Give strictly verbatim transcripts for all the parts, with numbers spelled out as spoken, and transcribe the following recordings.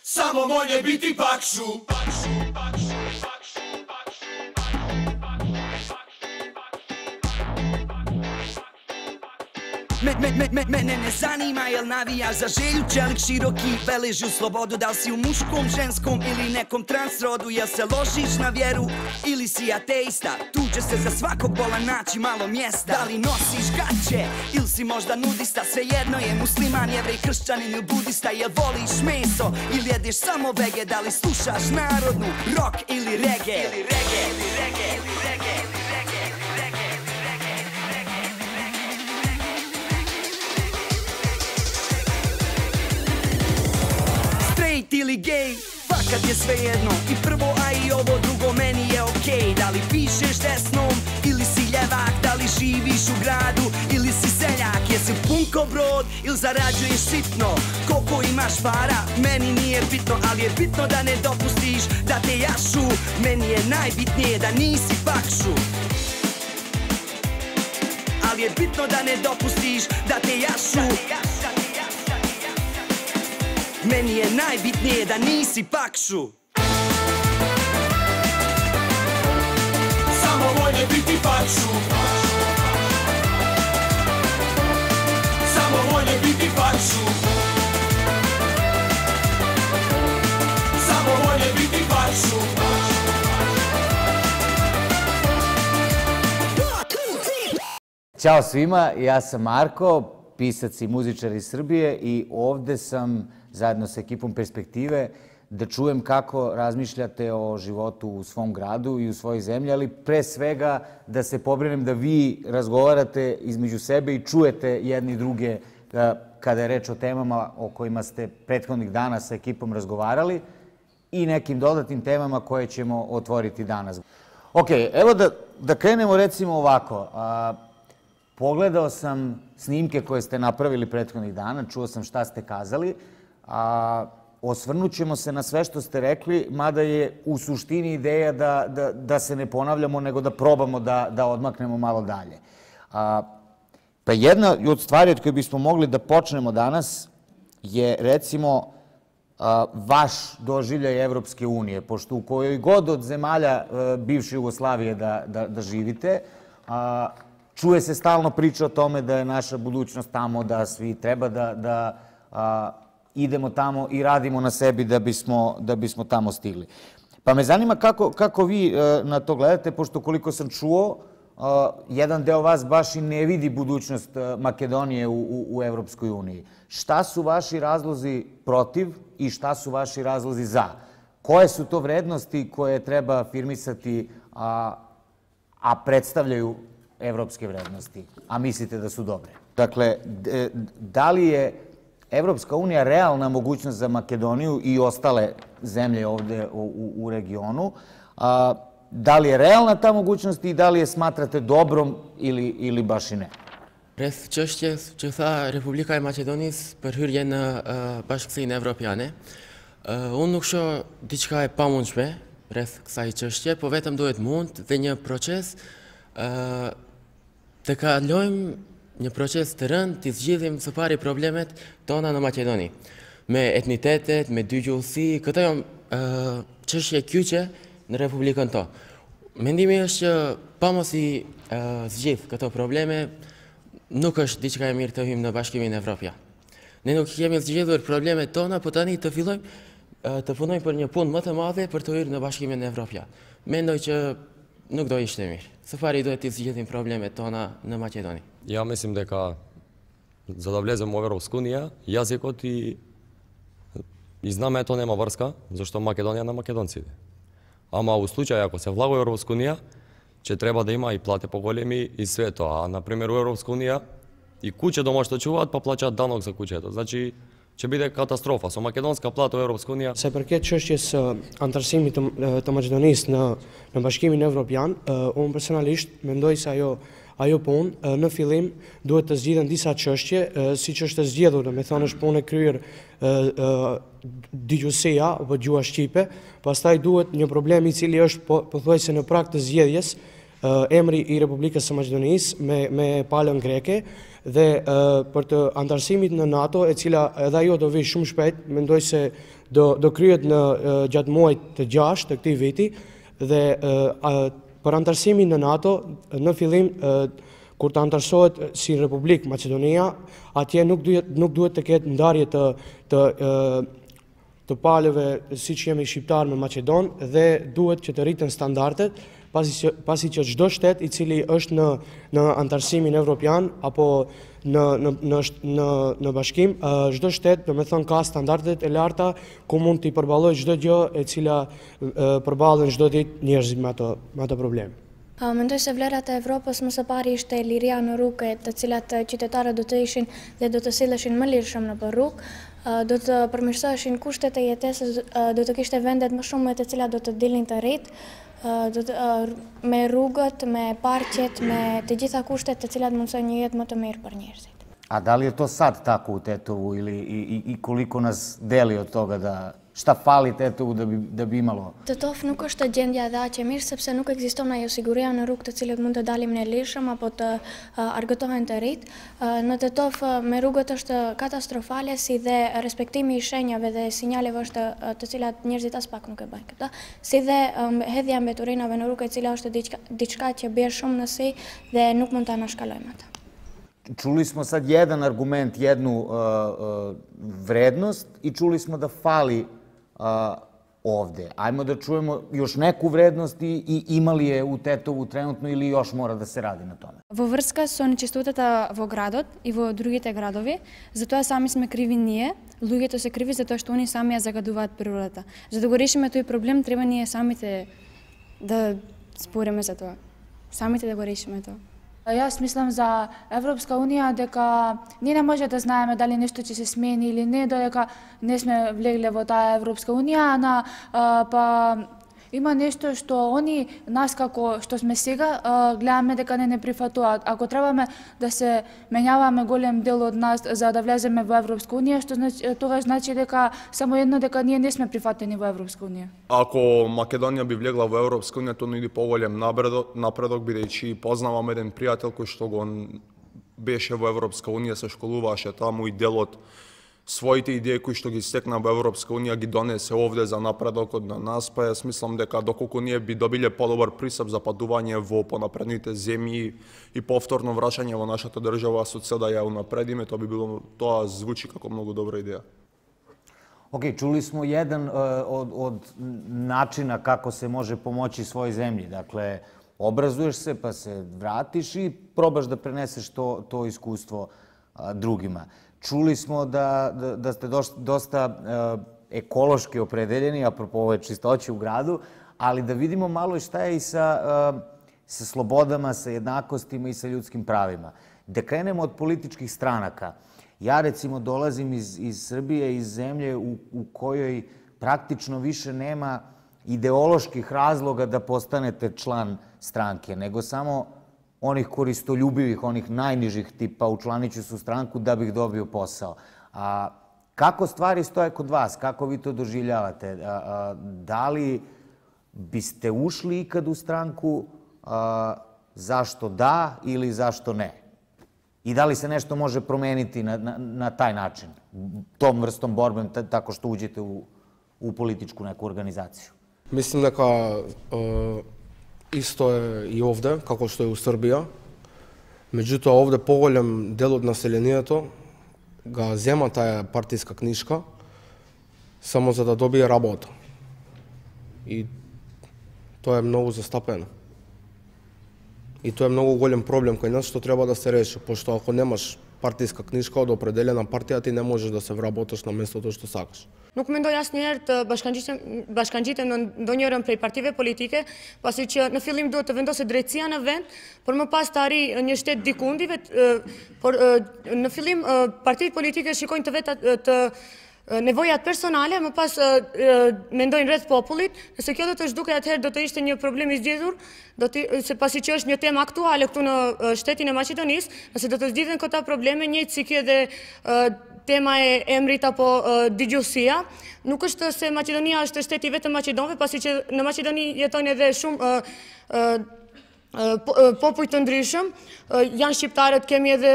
Samo moje biti pakšu. Mene ne zanima jel navijaš za Želju, čelik široki, veliš u slobodu. Da li si u muškom, ženskom ili nekom transrodu, jel se ložiš na vjeru ili si ateista, tu će se za svakog bola naći malo mjesta. Da li nosiš gaće ili si možda nudista, svejedno je musliman, jevrej, kršćanin ili budista. Jel voliš meso ili jedeš samo vege, da li slušaš narodnu, rock ili reggae. Ili gej, fakat je svejedno, i prvo a i ovo drugo meni je okej. Da li pišeš desnom ili si ljevak, da li živiš u gradu ili si seljak, jesi punko brod ili zarađuješ sitno, koliko imaš para meni nije bitno, ali je bitno da ne dopustiš da te jašu. Meni je najbitnije da nisi pakšu, ali je bitno da ne dopustiš da te jašu. Meni je najbitnije da nisi pakšu. Samo volje biti pakšu. Samo volje biti pakšu. Samo volje biti pakšu. Ćao svima, ja sam Marko, pisac i muzičar iz Srbije, i ovde sam zajedno sa ekipom Perspektive da čujem kako razmišljate o životu u svom gradu i u svojoj zemlji, ali pre svega da se pobrinem da vi razgovarate između sebe i čujete jedni druge kada je reč o temama o kojima ste prethodnih dana sa ekipom razgovarali i nekim dodatnim temama koje ćemo otvoriti danas. Ok, evo da, da krenemo recimo ovako. Pogledao sam snimke koje ste napravili prethodnih dana, čuo sam šta ste kazali, a osvrnut ćemo se na sve što ste rekli, mada je u suštini ideja da, da, da se ne ponavljamo, nego da probamo da, da odmaknemo malo dalje. A, pa jedna od stvari od koje bismo mogli da počnemo danas je recimo a, vaš doživljaj Evropske unije, pošto u kojoj god od zemalja a, bivše Jugoslavije da, da, da živite, a, čuje se stalno priča o tome da je naša budućnost tamo, da svi treba da, da a, idemo tamo i radimo na sebi da bismo, da bismo tamo stigli. Pa me zanima kako, kako vi a, na to gledate, pošto koliko sam čuo, a, jedan deo vas baš i ne vidi budućnost a, Makedonije u, u, u Evropskoj uniji. Šta su vaši razlozi protiv i šta su vaši razlozi za? Koje su to vrednosti koje treba afirmisati, a, a predstavljaju evropske vrednosti, a mislite da su dobre? Dakle, da li je Evropska unija realna mogućnost za Makedoniju i ostale zemlje ovde u, u regionu? A, da li je realna ta mogućnost i da li je smatrate dobrom ili, ili baš i ne? Rreth çështjes që tha Republika e Maqedonisë për hyrjen në uh, Bashkësinë Evropiane, uh, unë nuk shoh diçka e pamundshme rreth kësaj çështje, po vetëm duhet mund dhe një proces uh, të kalojmë një proces të rënd, të zgjidhim së pari problemet tona në Maqedoni. Me etnitetet, me dy gjuhësi, këto janë uh, çështje kyçe në Republikën tonë. Mendimi është që pa mos i uh, zgjidh këto probleme, nuk është diçka e mirë të hyjmë në Bashkimin Evropian. Ne nuk kemi zgjidhur problemet tona, po tani të fillojmë uh, të punojmë për një punë më të madhe për të hyrë në Bashkimin Evropian. Mendoj që nuk do ishte mirë. Së pari duhet të zgjidhim problemet tona në Maqedoni. Ja mislim дека за да влезем во Европска унија, јазикот и, и знамето нема врска, зашто Македонија на македонците. Ама у случај ако се влага во Европска унија, ќе треба да има и плате поголеми и све тоа. А на пример во Европска унија и куќе дома што чуваат па плаќаат данок за куќето. Значи ќе биде катастрофа со македонска плата во Европска унија. Sa përket çështjes së antarësimit të, të Maqedonisë në në Bashkimin Evropian, unë personalisht mendoj se ajo ajo punë në fillim duhet të zgjidhen disa çështje, siç është zgjedhur, me thënë është punë e kryer digjusia apo gjuha shqipe, pastaj duhet një problem i cili është pothuajse në prag të zgjedhjes, emri i Republikës së Maqedonisë me, me palën greke dhe për të antarësimit në NATO, e cila edhe ajo do vi shumë shpejt, mendoj se do, do kryet në gjatë muajit të gjashtë të këtij viti dhe për antarësimin në NATO, në fillim kur të antarësohet si Republikë Maqedonia, atje nuk duhet, nuk duhet të ketë ndarje të, të të palëve si që jemi shqiptar me Maqedon dhe duhet që të rriten standardet pasi që, pasi që çdo shtet i cili është në, në antarësimin evropian apo në, në, në, në, në bashkim, çdo shtet do me thënë ka standardet e larta ku mund t'i përballojë çdo gjë e cila përballen çdo ditë njerëzit me ato, me ato probleme. Mendoj se vlerat e Evropës më së pari ishte liria në rrugë, të cilat qytetarët do të ishin dhe do të silleshin më lirshëm në rrugë, do të përmirësoheshin kushtet e jetesës, do të kishte vendet më shumë të cilat do të dilnin të rritë, do të, me rrugët, me parqet, me të gjitha kushtet të cilat mundsojnë një jetë më të mirë për njerëzit. A da li je to sad tako u Tetovu ili i, i, i koliko nas deli od toga da šta fali Tetovu da bi, da bi imalo? Tetov nuk është gjendja dhe aq e mirë sepse nuk ekziston ajo siguria në rrugë të cilët mund të dalim në lirshëm apo të uh, argëtohen të rrit. Uh, në Tetov uh, me rrugët është katastrofale, si dhe respektimi i shenjave dhe sinjaleve është uh, të cilat njerëzit as pak nuk e bëjnë këta, si dhe um, hedhja mbeturinave në rrugë e cila është diçka, diçka që bie shumë në si dhe nuk mund ta anashkalojmë atë. Čuli smo sad jedan argument, jednu uh, uh, vrednost i čuli smo da fali uh, ovde. Ajmo da čujemo još neku vrednost i, i ima li je u Tetovu trenutno ili još mora da se radi na tome. Во врска со нечистотата во градот и во другите градови, затоа сами сме криви ние, луѓето се криви затоа што они сами ја загадуваат природата. За да го решиме тој проблем, треба ние самите да спориме за тоа. Самите да го решиме тоа. Јас мислам за Европска унија дека ние не може да знаеме дали нешто ќе се смени или не, додека не сме влегле во таа Европска унија, на па има нешто што они нас како што сме сега гледаме дека не не прифатуваат. Ако требаме да се менјаваме голем дел од нас за да влеземе во Европска унија, што значи тоа значи дека само едно дека ние не сме прифатени во Европска унија. Ако Македонија би влегла во Европска унија, тоа нуди поголем напредок, напредок бидејќи познавам еден пријател кој што го беше во Европска унија, се школуваше таму и дел од своите идеи кои што ги стекна во Европска унија ги донесе овде за напредокот на нас, па јас мислам дека доколку ние би добиле подобар пристап за патување во понапредните земји и повторно враќање во нашата држава со цел да ја унапредиме, тоа би било, тоа звучи како многу добра идеја. Ok, čuli smo jedan uh, od, od načina kako se može pomoći svojoj zemlji. Dakle, obrazuješ se pa se vratiš i probaš da preneseš to, to iskustvo uh, drugima. Čuli smo da, da, da ste dosta uh, ekološki opredeljeni, apropo ove čistoće u gradu, ali da vidimo malo šta je i sa, uh, sa slobodama, sa jednakostima i sa ljudskim pravima. Da krenemo od političkih stranaka. Ja recimo dolazim iz, iz Srbije, iz zemlje u, u kojoj praktično više nema ideoloških razloga da postanete član stranke, nego samo onih koristoljubivih, onih najnižih tipa učlaniću se u stranku da bih dobio posao. A kako stvari stoje kod vas? Kako vi to doživljavate? A, a, da li biste ušli ikad u stranku? A, zašto da ili zašto ne? I da li se nešto može promeniti na, na, na taj način, tom vrstom borbom, tako što uđete u, u političku neku organizaciju? Mislim дека uh, исто е и овде, како што е у Србија. Меѓутоа, овде поголем дел од населението га зема таа партиска книжка само за да добие работа. И тоа е многу застапено. И тоа е многу голем проблем кај нас што треба да се реши, пошто ако немаш партиска книжка од определена партија, ти не можеш да се вработиш на местото што сакаш. Nuk mendoj asnjëherë të bashkangjitem në ndonjërin prej partive politike, pasi që në fillim duhet të vendoset drejtësia në vend, por më pas të arrijë një shtet dikundive, por në fillim partitë politike shikojnë të vetë të nevojat personale, më pas mendojnë rreth popullit, nëse kjo do të zhduket atëherë do të ishte një problem i zgjedhur, do të se pasi që është një temë aktuale këtu në shtetin e Maqedonisë, nëse do të zgjidhen këta probleme, njëjtë si kjo dhe tema e emrit apo digjosia, nuk është se Maqedonia është shteti vetëm Maqedonëve, pasi që në Maqedoni jetojnë edhe shumë popull të ndryshëm, janë shqiptarët, kemi edhe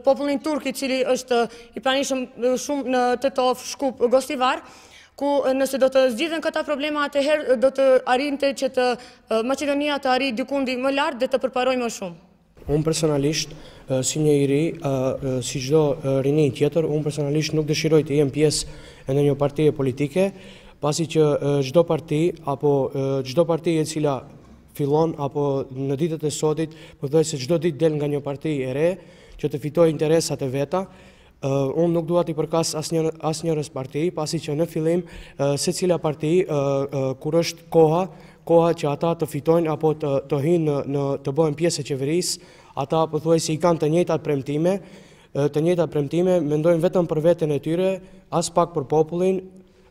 popullin turk i cili është i pranishëm shumë në Tetov, Shkup, Gostivar, ku nëse do të zgjidhen këta problema, atëherë do të arrinte që të Maqedonia të arrijë dikundi më lart dhe të përparojë më shumë. Unë personalisht, si një i ri, si çdo rini tjetër, unë personalisht nuk dëshiroj të jem pjesë e në një partije politike, pasi që çdo parti apo çdo parti e cila fillon apo në ditët e sotit, pothuaj se çdo ditë del nga një parti e re që të fitojë interesat e veta. Unë nuk dua t'i përkas asnjërës parti, pasi që në fillim secila parti kur është koha koha që ata të fitojnë apo të, të hyjnë në, në të bëhen pjesë e qeverisë, ata pothuajse i kanë të njëjtat premtime, të njëjtat premtime, mendojnë vetëm për veten e tyre, as pak për popullin,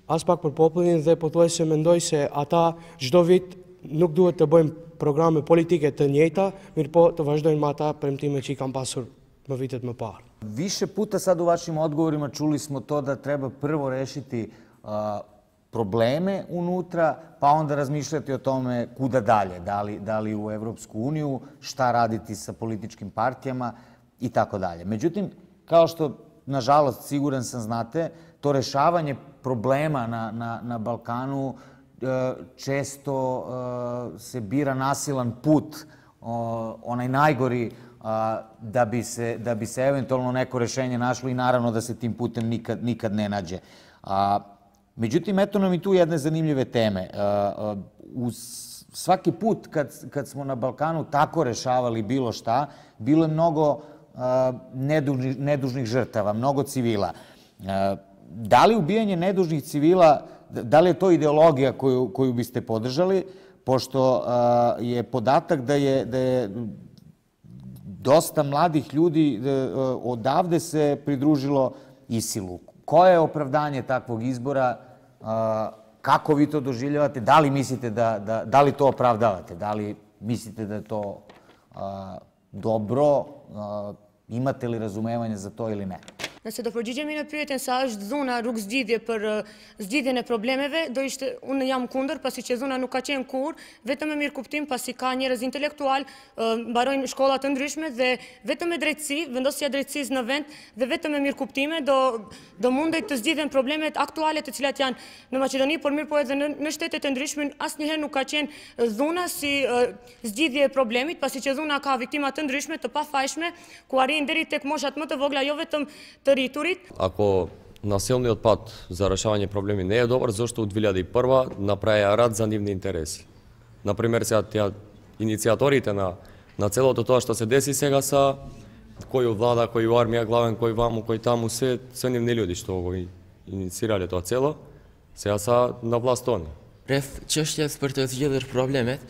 as pak për popullin dhe pothuajse mendoj se ata çdo vit nuk duhet të bëjmë programe politike të njëjta, mirë po të vazhdojnë me ata premtime që i kanë pasur më vitet më parë. Više puta sad u vašim odgovorima čuli smo to da treba prvo rešiti uh, probleme unutra, pa onda razmišljati o tome kuda dalje, da li, da li u Evropsku uniju, šta raditi sa političkim partijama i tako dalje. Međutim, kao što, nažalost, siguran sam znate, to rešavanje problema na, na, na Balkanu često se bira nasilan put, onaj najgori, da bi se, da bi se eventualno neko rešenje našlo i naravno da se tim putem nikad, nikad ne nađe. Međutim, eto nam i tu jedne zanimljive teme. Uz svaki put kad, kad smo na Balkanu tako rešavali bilo šta, bilo je mnogo nedužnih, nedužnih žrtava, mnogo civila. Da li ubijanje nedužnih civila, da li je to ideologija koju, koju biste podržali, pošto je podatak da je, da je dosta mladih ljudi odavde se pridružilo ISIL-u. Koje je opravdanje takvog izbora? Kako vi to doživljavate? Da li mislite da, da, da li to opravdavate? Da li mislite da je to dobro? Imate li razumevanje za to ili ne? Nëse do përgjigjemi në pyetjen sa është zona rrugë zgjidhje për zgjidhjen e problemeve, do ishte unë jam kundër, pasi që zona nuk ka qenë kur, vetëm me mirëkuptim, pasi ka njerëz intelektual, mbarojnë shkolla të ndryshme dhe vetëm me drejtësi, vendosja e drejtësisë në vend dhe vetëm me mirëkuptime do do mundej të zgjidhen problemet aktuale të cilat janë në Maqedoni, por mirë po edhe në, në shtetet e ndryshme asnjëherë nuk ka qenë zona si zgjidhje e problemit, pasi që zona ka viktima të ndryshme, të pafajshme, ku arrin deri tek moshat më të vogla, jo vetëm të riturit. Ако насилниот пат за решавање проблеми не е добар, зашто од две илјади и прва направија рад за нивни интереси. Например, сега тя иницијаторите на на целото тоа што се деси сега са кој у влада, кој у армија главен, кој ваму, кој таму, се се нивни луѓе што го инициирале тоа цело, сега са на власт они. Rreth çështjes për të zgjidhur problemet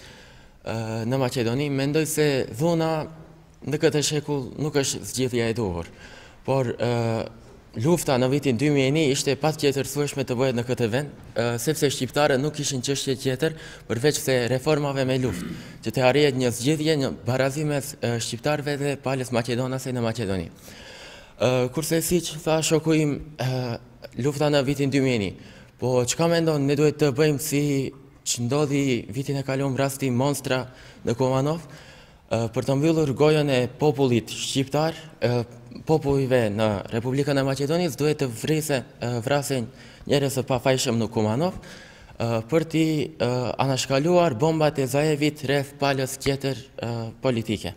në Maqedoni, mendoj se dhuna në këtë shekull nuk është zgjidhja e duhur. Por lufta në vitin dy mijë e një ishte patjetër thuajshme të bëhet në këtë vend, sepse shqiptarët nuk kishin çështje tjetër përveç se reformave me luftë, që të arrihet një zgjidhje, një barazim mes shqiptarëve dhe palës maqedonase në Maqedoni. Kurse siç tha shoku im, lufta në vitin dy mijë e një, po çka mendon ne duhet të bëjmë si që ndodhi vitin e kaluar rasti Monstra në Kumanov, për të mbyllur gojën e popullit shqiptar, popujve në Republikën e Maqedonisë duhet të vrese, vrasin njerëz të pafajshëm në Kumanov për t'i anashkaluar bombat e Zaevit rreth palës tjetër politike.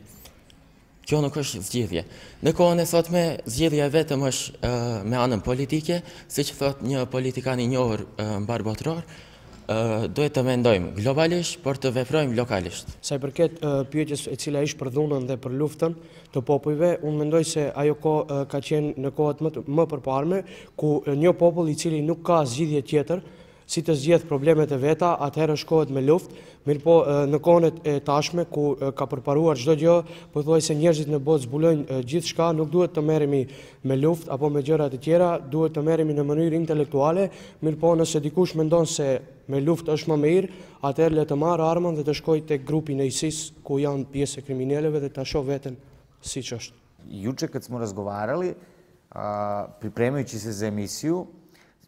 Kjo nuk është zgjidhje. Në kohën e sotme, zgjidhja vetëm është me anën politike, siç thot një politikan i njohur mbar botror, duhet të mendojmë globalisht, por të veprojmë lokalisht. Sa i përket pyetjes e cila ishte për dhunën dhe për luftën të popujve, unë mendoj se ajo kohë ka qenë në kohët më, më përparme, ku një popull i cili nuk ka zgjidhje tjetër, si të zgjedh problemet e veta, atëherë shkohet me luftë, mirë po në kohën e tashme, ku ka përparuar çdo gjë, pothuajse njerëzit në botë zbulojnë gjithçka, nuk duhet të merremi me luftë apo me gjëra të tjera, duhet të merremi në mënyrë intelektuale, mirë po nëse dikush mendon se me luftë është më mirë, atëherë le të marrë armën dhe të shkojë tek grupi në ISIS, ku janë pjesë e kriminaleve dhe ta shoh veten siç është. Juče kad smo razgovarali, pripremajući se za emisiju,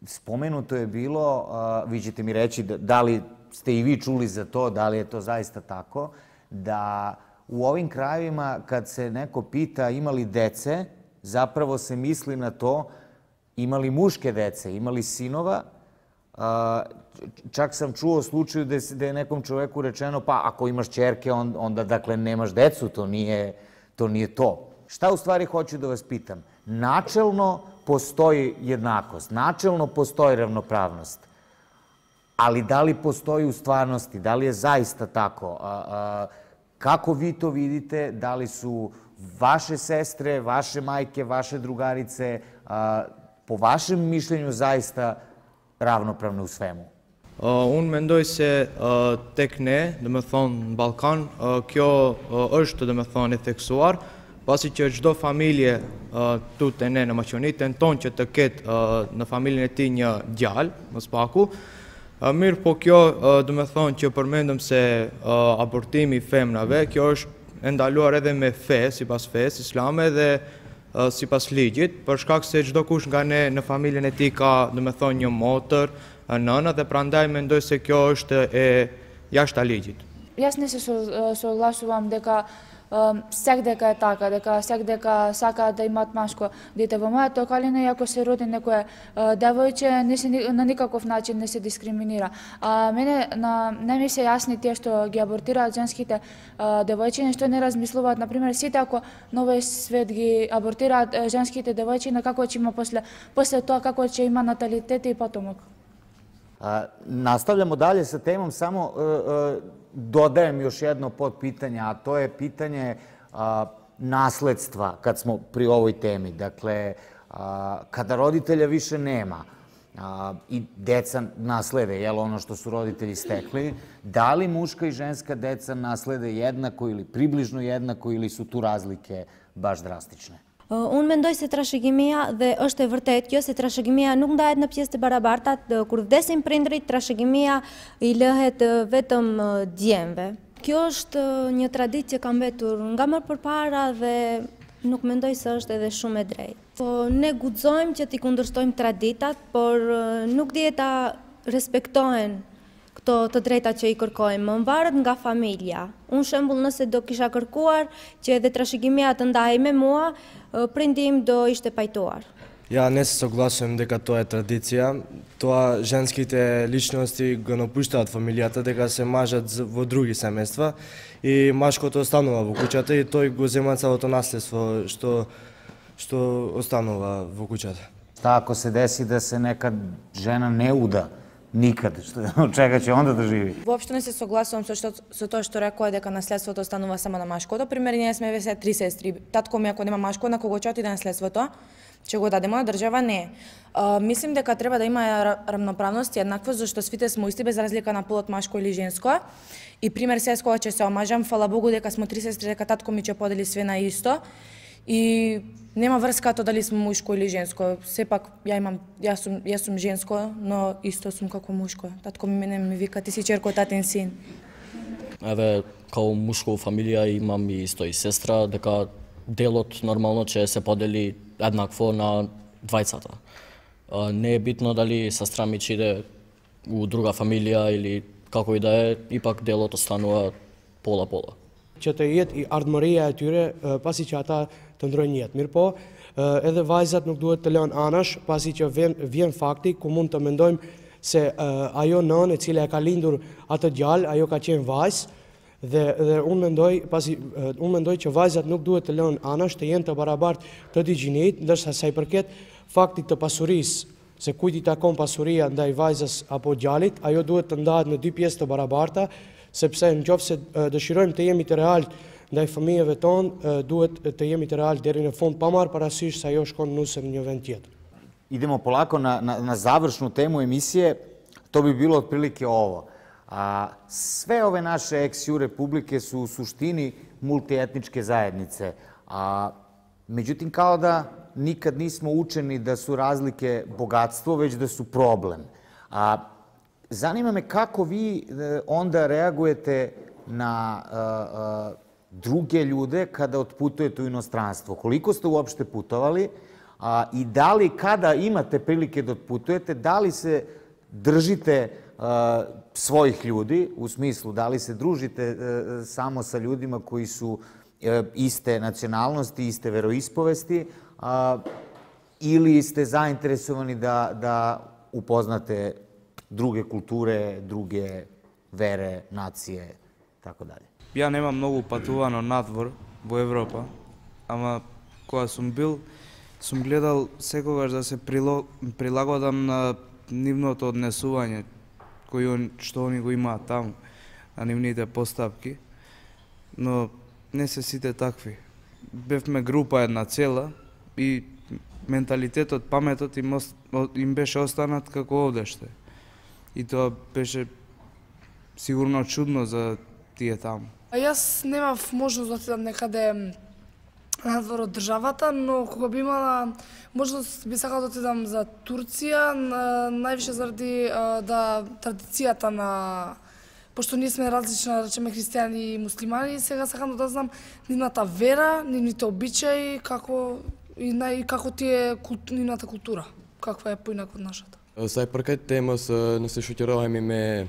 spomenuto je bilo, vi ćete mi reći da li ste i vi čuli za to, da li je to zaista tako, da u ovim krajevima kad se neko pita ima li dece, zapravo se misli na to ima li muške dece, ima li sinova. Čak sam čuo slučaju da je nekom čoveku rečeno pa ako imaš ćerke onda dakle nemaš decu, to nije to. Šta u stvari hoću da vas pitam? Načelno postoji jednakost, načelno postoji ravnopravnost, ali da li postoji u stvarnosti, da li je zaista tako? Kako vi to vidite? Da li su vaše sestre, vaše majke, vaše drugarice po vašem mišljenju zaista ravnopravne u svemu? Unë mendoj se tek ne, dhe me thonë në Balkan, kjo është dhe me thonë e theksuar, pasi që çdo familje tu te ne në Maqedoni tenton që të ketë në familjen e tij një djalë, mos paku. Mirë, po kjo dhe me thonë që përmendëm se abortimi i femrave, kjo është e ndaluar edhe me fe, sipas fesë islame dhe sipas ligjit, për shkak se çdo kush nga ne në familjen e tij ka dhe me thonë një motër, nëna, dhe prandaj mendoj se kjo është e jashtë ligjit. Јас не се согласувам дека сек дека е така, дека сек дека сака да имат машко дете. Во мојата околина, ако се роди некое девојче, не се на никаков начин не се дискриминира. А мене на не ми се јасни тие што ги абортираат женските девојчиња, што не размислуваат, на пример, сите ако на овој свет ги абортираат женските девојчиња, како ќе има после после тоа како ќе има наталитет и потомок. Nastavljamo dalje sa temom, samo dodajem još jedno podpitanje, a to je pitanje nasledstva kad smo pri ovoj temi. Dakle, kada roditelja više nema i deca naslede, jel, ono što su roditelji stekli, da li muška i ženska deca naslede jednako ili približno jednako ili su tu razlike baš drastične? Unë mendoj se trashëgimia, dhe është e vërtet kjo, se trashëgimia nuk ndahet në pjesë të barabarta, kur vdesin prindrit, trashëgimia i lëhet vetëm djemve. Kjo është një traditë që ka mbetur nga më përpara dhe nuk mendoj se është edhe shumë e drejtë. Po ne guxojmë që t'i kundërshtojmë traditat, por nuk dihet ta respektohen këto të drejta që i kërkojmë, më varet nga familja. Unë shembull, nëse do kisha kërkuar që edhe trashëgimia të ndahej me mua, prindi im do ishte pajtuar. Ja не се согласувам дека тоа е традиција. Тоа женските личности го напуштаат фамилијата, дека се мажат во други семејства и машкото останува во куќата и тој го зема целото наследство што што останува во куќата. Šta ako se desi da se neka žena ne uda nikad, od čega će onda da živi? Воопшто не се согласувам со со тоа што рекоа дека наследството останува само на машкото. Пример, ние сме весе три сестри. Татко ми ако нема машко, на кого ќе отиде наследството? Ќе го дадеме на држава? Не. Мислим дека треба да има рамноправност и еднаквост, зашто свите сме исти без разлика на полот машко или женско. И пример, сега кога ќе се омажам, фала Богу дека сме три сестри, дека татко ми ќе подели све на исто. И нема врска тоа дали сум мушко или женско. Сепак ја имам јас сум јас сум женско, но исто сум како мушко. Татко ми мене ми вика ти си ќерко татин син. Еве као мушко фамилија имам и исто и сестра, дека делот нормално ќе се подели еднакво на двајцата. Не е битно дали сестра ми ќе иде у друга фамилија или како и да е, ипак делот останува пола-пола. Që të jetë i ardhmëria e tyre pasi që ata të ndrojnë jetë. Mirë po, edhe vajzat nuk duhet të lënë anash pasi që vjen fakti ku mund të mendojmë se ajo nënë e cila e ka lindur atë djalë, ajo ka qenë vajzë dhe unë mendoj pasi unë mendoj që vajzat nuk duhet të lënë anash, të jenë të barabartë të dy gjinit, ndërsa sa i përket faktit të pasurisë, se kujt i takon pasuria ndaj vajzës apo djalit, ajo duhet të ndahet në dy pjesë të barabarta, sepse në qoftë se dëshirojmë të jemi të realt ndaj fëmijëve tonë, duhet të jemi të realt deri në fund, pa marrë parasysh se ajo shkon nusëm një vend tjetër. Idemo polako na, na, na završnu temu emisije, to bi bilo otprilike ovo. A, sve ove naše ex-ju republike su u suštini multietničke zajednice, a međutim kao da nikad nismo učeni da su razlike bogatstvo, već da su problem. A zanima me kako vi onda reagujete na druge ljude kada otputujete u inostranstvo. Koliko ste uopšte putovali i da li kada imate prilike da otputujete, da li se držite svojih ljudi, u smislu da li se družite samo sa ljudima koji su iste nacionalnosti, iste veroispovesti, ili ste zainteresovani da upoznate druge kulture, druge vere, nacije, tako dalje. Ja nemam mnogo патувано надвор во Европа, ама кога сум бил, сум гледал секогаш да се прилагодам на нивното однесување кој што они го имаат таму, на нивните постапки, но не се сите такви. Бевме група една цела и менталитетот, паметот им, им беше останат како овдеште. И тоа беше сигурно чудно за тие таму. А јас немав можност да отидам некаде надвор од државата, но кога би имала можност би сакала да отидам за Турција, највише заради да традицијата на, пошто ние сме различни, речеме христијани и муслимани, сега сакам да знам нивната вера, нивните обичаи, како и нај како тие нивната култура, каква е поинаку од нашата. Сај паркет темас не се шокирааме ме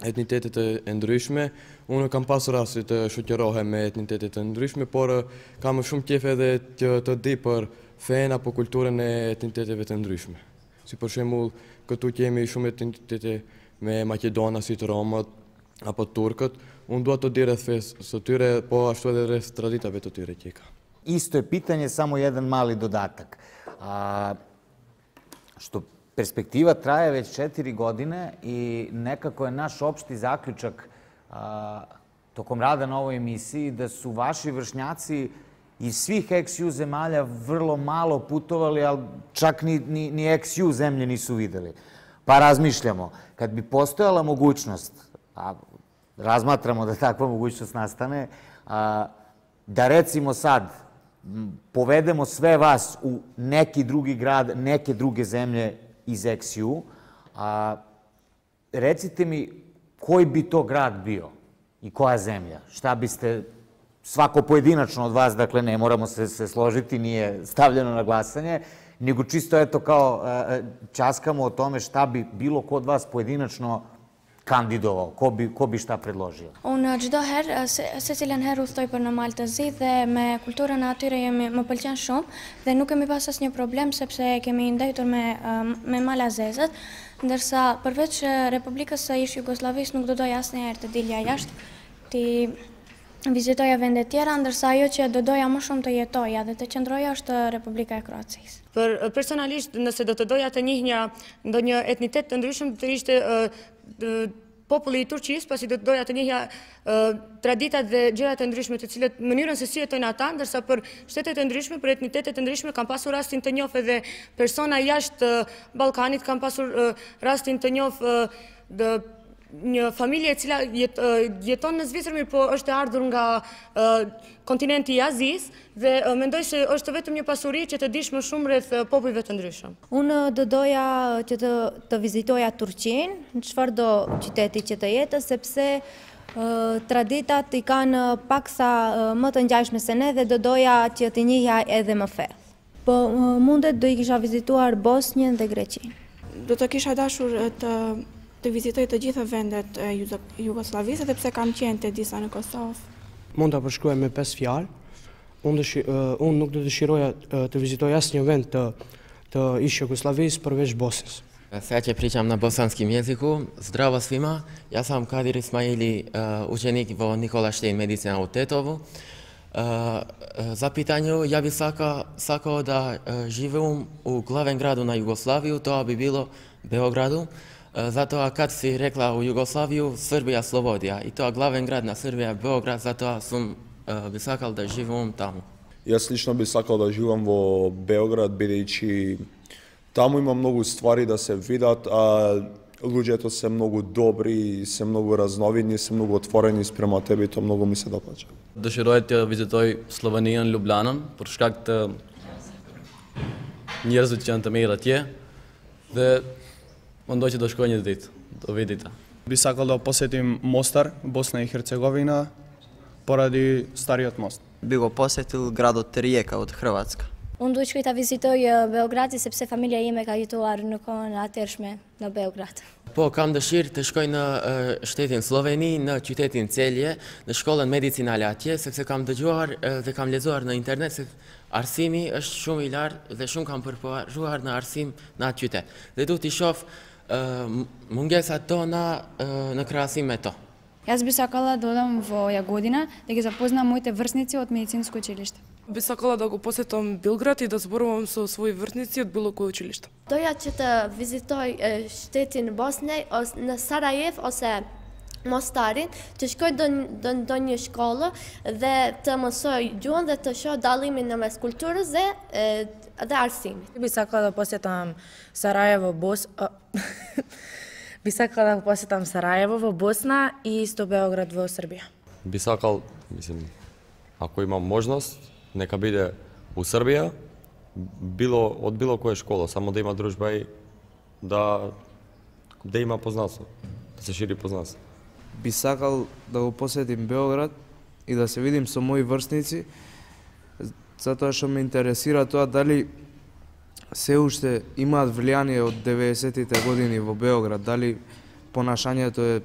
etnitetet e ndryshme. Unë kam pasur rasti të shoqërohem me etnitetet e ndryshme, por kam shumë qejf edhe të, të di për fen apo kulturën e etniteteve të ndryshme. Si për shembull, këtu kemi shumë etnitete me Maqedonasit, Romët apo Turkët. Unë dua të di rreth fesë së tyre, po ashtu edhe rreth traditave të tyre që ka. Isto je pitanje, samo jedan mali dodatak. A, što perspektiva traje već četiri godine i nekako je naš opšti zaključak a, tokom rada na ovoj emisiji da su vaši vršnjaci iz svih ex-ju zemalja vrlo malo putovali, ali čak ni, ni, ni ex-ju zemlje nisu videli. Pa razmišljamo, kad bi postojala mogućnost, a razmatramo da takva mogućnost nastane, a, da recimo sad povedemo sve vas u neki drugi grad, neke druge zemlje iz ex-ju, a recite mi koji bi to grad bio i koja zemlja? Šta biste, svako pojedinačno od vas, dakle ne moramo se, se složiti, nije stavljeno na glasanje, nego čisto eto kao časkamo o tome šta bi bilo ko od vas pojedinačno kandidovao, ko bi, ko bi šta predložio? Unë çdo herë, se, se cilën herë udhtoj për në Maltëzi dhe me kulturën atyre jemi, më pëlqen shumë dhe nuk kemi pas asnjë problem sepse kemi ndajtur me, me malazezët, ndërsa përveç Republikës së ish Jugosllavisë nuk do doja asnjëherë të dilja jashtë, ti vizitoja vende tjera, ndërsa ajo që do doja më shumë të jetoja dhe të qëndroja është Republika e Kroacisë. Për personalisht, nëse do të doja të njihja ndonjë etnitet të ndryshëm, të ishte populli i Turqisë, pasi do të doja të njihja traditat dhe gjërat e ndryshme të cilët mënyrën se si jetojnë ata, ndërsa për shtetet e ndryshme, për etnitetet e ndryshme kam pasur rastin të njoh edhe persona jashtë Ballkanit, kam pasur rastin të njoh një familje e cila jeton në Zvicër, mirë po është e ardhur nga kontinenti i Azisë dhe mendoj se është vetëm një pasuri që të dish më shumë rreth popujve të ndryshëm. Unë do doja që të, të vizitoja Turqinë, në çfarëdo qyteti që të jetë, sepse traditat i kanë paksa më të ngjashme se ne dhe do doja që të njihja edhe më thellë. Po mundet do i kisha vizituar Bosnjën dhe Greqinë. Do të kisha dashur të të vizitoj të gjitha vendet e Jugosllavisë, edhe pse kam qenë te disa në Kosovë. Mund ta përshkruaj me pesë fjalë. Unë unë nuk do dëshiroja të vizitoj asnjë vend të të ish Jugosllavisë përveç Bosnjës. Сега че pričam na bosanskim jeziku, zdravo svima, ja sam Kadir Ismaili, učenik vo Nikola Štein medicina u Tetovu. Za pitanju, ja bi sakao da živim u glavnom gradu na Jugoslaviju, to bi bilo Beogradu. Zato kad si rekla u Jugoslaviju, Srbija Slobodija. I to glaven grad na Srbija Beograd, zato sam bi sakal da živim tamo. Јас лично би сакал да живам во Београд, бидејќи таму има многу ствари да се видат, а луѓето се многу добри, се многу разновидни, се многу отворени спрема тебе и тоа многу ми се допаѓа. Dëshiroj të vizitoj Sloveninë, Ljubljanën, për shkak të njerëzve që janë të mirë atje dhe mendoj që do shkoj një ditë, do vi dita. Би сакал да посетим Мостар, Босна и Херцеговина, поради стариот мост. Би го посетил градот Риека од Хрватска. Unë du shkoj ta vizitoj Beogradin sepse familja ime ka jetuar në kohën e atërshme në Beograd. Po, kam dëshirë të shkoj në uh, shtetin Sloveni, në qytetin Celje, në shkollën medicinale atje, sepse kam dëgjuar uh, dhe kam lexuar në internet se arsimi është shumë i lartë dhe shumë kam përporuar në arsim në atë qytet. Dhe du t'i shoh uh, mungesat tona uh, në krahasim me to. Јас би сакала да одам во Јагодина, да ги запознам моите врсници од медицинско училиште. Би сакала да го посетам Белград и да зборувам со своји врсници од било кој училиште. Doja që të vizitoj shtetin Bosnjë, në Sarajevo ose Mostarin, të shkoj do një shkollë dhe të mësoj gjuhën dhe të shoh dallimin në mes kulturës dhe dhe arsimit. Би сакала да посетам Сараево, Бос Би сакала да посетам Сараево во Босна и исто Београд во Србија. Би сакал, мислим, ако имам можност, нека биде у Србија, било од било која школа, само да има дружба и да да има познанство, да се шири познанство. Би сакал да го посетим Београд и да се видим со мои врсници, затоа што ме интересира тоа дали се уште имаат влијание од деветдесетите години во Београд, дали понашањето е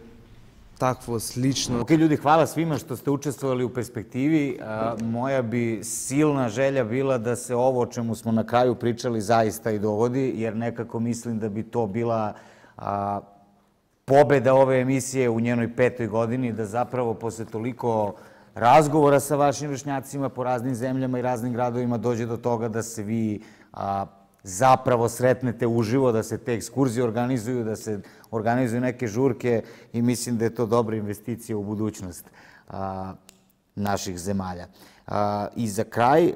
takvo, slično. Ok, ljudi, hvala svima što ste učestvovali u perspektivi. Moja bi silna želja bila da se ovo o čemu smo na kraju pričali zaista i dogodi, jer nekako mislim da bi to bila pobeda ove emisije u njenoj petoj godini, da zapravo posle toliko razgovora sa vašim vršnjacima po raznim zemljama i raznim gradovima dođe do toga da se vi zapravo sretnete uživo, da se te ekskurzije organizuju, da se organizuju neke žurke i mislim da je to dobra investicija u budućnost naših zemalja. I za kraj,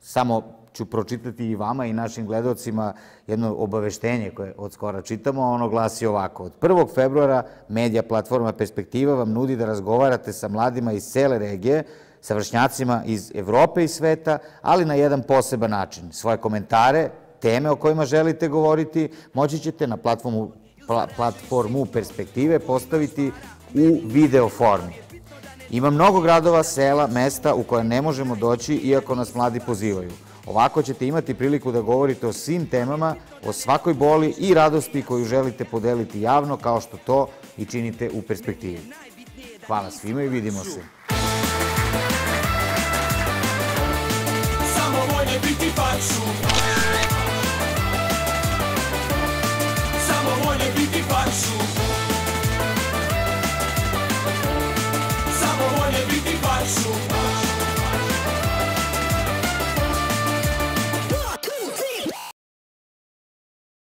samo ću pročitati i vama i našim gledalcima jedno obaveštenje koje od skora čitamo, ono glasi ovako. Od prvog februara medija platforma Perspektiva vam nudi da razgovarate sa mladima iz cele regije, sa vršnjacima iz Evrope i sveta, ali na jedan poseban način. Svoje komentare, teme o kojima želite govoriti, moći ćete na platformu, platformu Perspektive postaviti u video formi. Ima mnogo gradova, sela, mesta u koje ne možemo doći iako nas mladi pozivaju. Ovako ćete imati priliku da govorite o svim temama, o svakoj boli i radosti koju želite podeliti javno kao što to i činite u Perspektivi. Hvala svima i vidimo se.